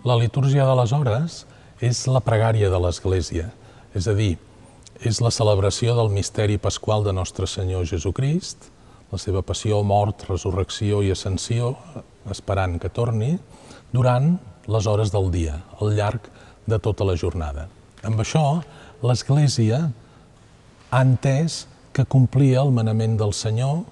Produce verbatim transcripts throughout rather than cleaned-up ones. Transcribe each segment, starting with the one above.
La litúrgia de les hores és la pregària de l'Església, és a dir, és la celebració del misteri pasqual de Nostre Senyor Jesucrist, la seva passió, mort, resurrecció i ascensió, esperant que torni, durant les hores del dia, al llarg de tota la jornada. Amb això, l'Església ha entès que complia el manament del Senyor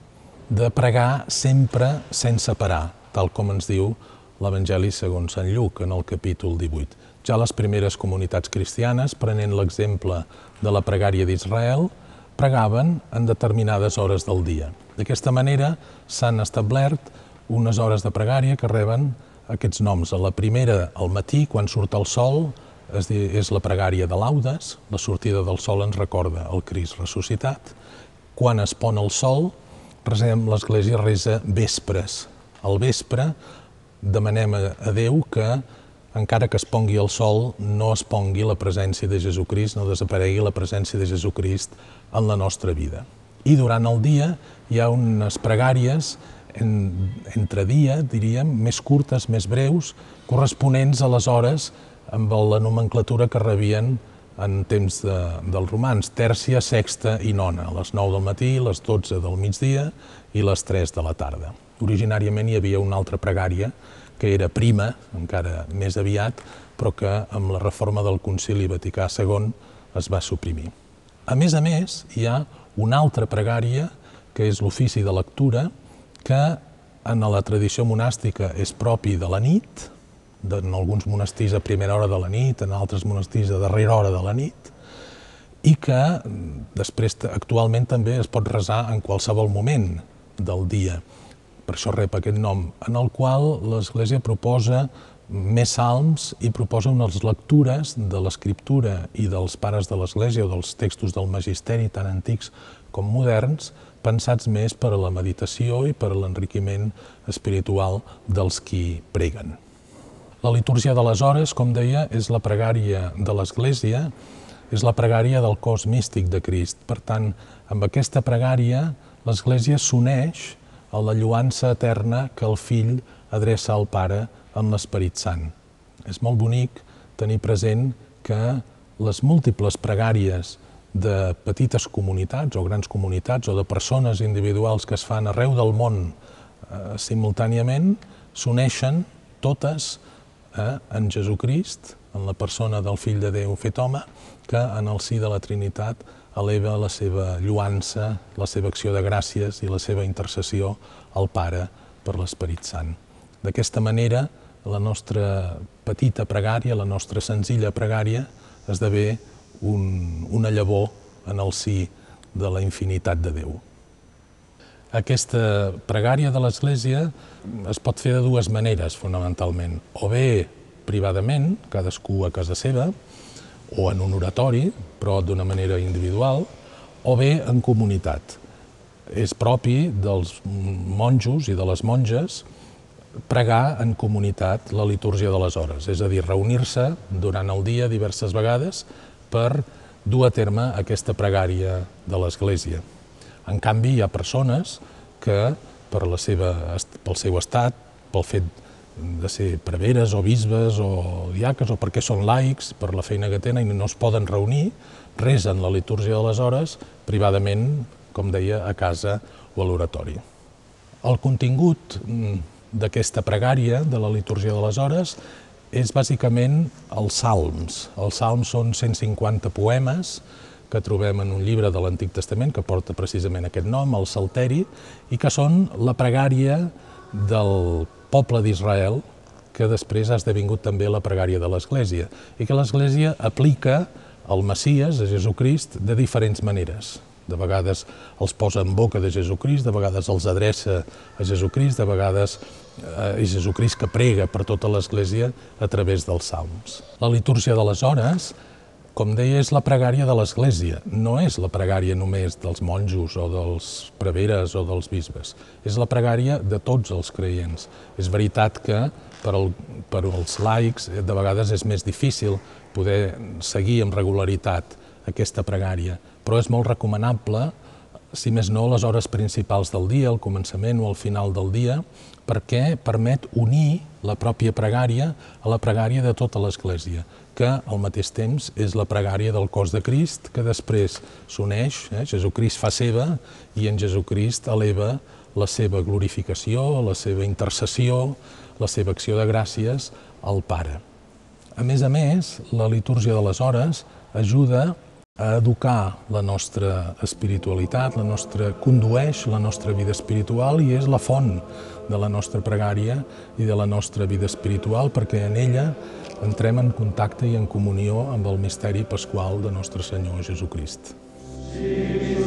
de pregar sempre sense parar, tal com ens diu l'Evangeli segons Sant Lluc, en el capítol divuit. Ja les primeres comunitats cristianes, prenent l'exemple de la pregària d'Israel, pregaven en determinades hores del dia. D'aquesta manera s'han establert unes hores de pregària que reben aquests noms. A la primera, al matí, quan surt el sol, és la pregària de laudes, la sortida del sol ens recorda el Crist ressuscitat. Quan es pon el sol, l'Església resa vespres. Al vespre demanem a Déu que, encara que es pongui el sol, no es pongui la presència de Jesucrist, no desaparegui la presència de Jesucrist en la nostra vida. I durant el dia hi ha unes pregàries entre dia, diríem, més curtes, més breus, corresponents a les hores amb la nomenclatura que rebien en temps dels romans, tèrcia, sexta i nona, a les nou del matí, les dotze del migdia i les tres de la tarda. Originàriament hi havia una altra pregària, que era prima, encara més aviat, però que amb la reforma del Concili Vaticà segon es va suprimir. A més a més, hi ha una altra pregària, que és l'ofici de lectura, que en la tradició monàstica és propi de la nit, en alguns monestirs a primera hora de la nit, en altres monestirs a darrera hora de la nit, i que després actualment també es pot resar en qualsevol moment del dia. Per això rep aquest nom, en el qual l'Església proposa més salms i proposa unes lectures de l'Escriptura i dels pares de l'Església o dels textos del Magisteri, tant antics com moderns, pensats més per a la meditació i per a l'enriquiment espiritual dels qui preguen. La litúrgia de les hores, com deia, és la pregària de l'Església, és la pregària del cos místic de Crist. Per tant, amb aquesta pregària, l'Església s'uneix a la lloança eterna que el Fill adreça al Pare en l'Esperit Sant. És molt bonic tenir present que les múltiples pregàries de petites comunitats o grans comunitats o de persones individuals que es fan arreu del món eh, simultàniament s'uneixen totes eh, en Jesucrist, en la persona del Fill de Déu fet home, que en el si de la Trinitat eleva la seva lluança, la seva acció de gràcies i la seva intercessió al Pare per l'Esperit Sant. D'aquesta manera, la nostra petita pregària, la nostra senzilla pregària, esdevé un, una llavor en el si de la infinitat de Déu. Aquesta pregària de l'Església es pot fer de dues maneres, fonamentalment. O bé privadament, cadascú a casa seva, o en un oratori, però d'una manera individual, o bé en comunitat. És propi dels monjos i de les monges pregar en comunitat la litúrgia de les hores, és a dir, reunir-se durant el dia diverses vegades per dur a terme aquesta pregària de l'Església. En canvi, hi ha persones que, per la seva, pel seu estat, pel fet de ser preveres o bisbes o diaques o perquè són laics, per la feina que tenen i no es poden reunir, resen la litúrgia de les hores privadament, com deia, a casa o a l'oratori. El contingut d'aquesta pregària de la litúrgia de les hores és bàsicament els salms. Els salms són cent cinquanta poemes que trobem en un llibre de l'Antic Testament que porta precisament aquest nom, el Salteri, i que són la pregària del poble d'Israel, que després ha esdevingut també la pregària de l'Església, i que l'Església aplica al Messies, a Jesucrist, de diferents maneres. De vegades els posa en boca de Jesucrist, de vegades els adreça a Jesucrist, de vegades és Jesucrist que prega per tota l'Església a través dels salms. La litúrgia de les hores, com deia, és la pregària de l'Església, no és la pregària només dels monjos o dels preveres o dels bisbes, és la pregària de tots els creients. És veritat que per, el, per als laics de vegades és més difícil poder seguir amb regularitat aquesta pregària, però és molt recomanable si més no, les hores principals del dia, al començament o al final del dia, perquè permet unir la pròpia pregària a la pregària de tota l'Església, que al mateix temps és la pregària del cos de Crist, que després s'uneix, eh? Jesucrist fa seva i en Jesucrist eleva la seva glorificació, la seva intercessió, la seva acció de gràcies al Pare. A més a més, la litúrgia de les hores ajuda a educar la nostra espiritualitat, la nostra, condueix la nostra vida espiritual i és la font de la nostra pregària i de la nostra vida espiritual, perquè en ella entrem en contacte i en comunió amb el misteri pasqual de Nostre Senyor Jesucrist. Sí.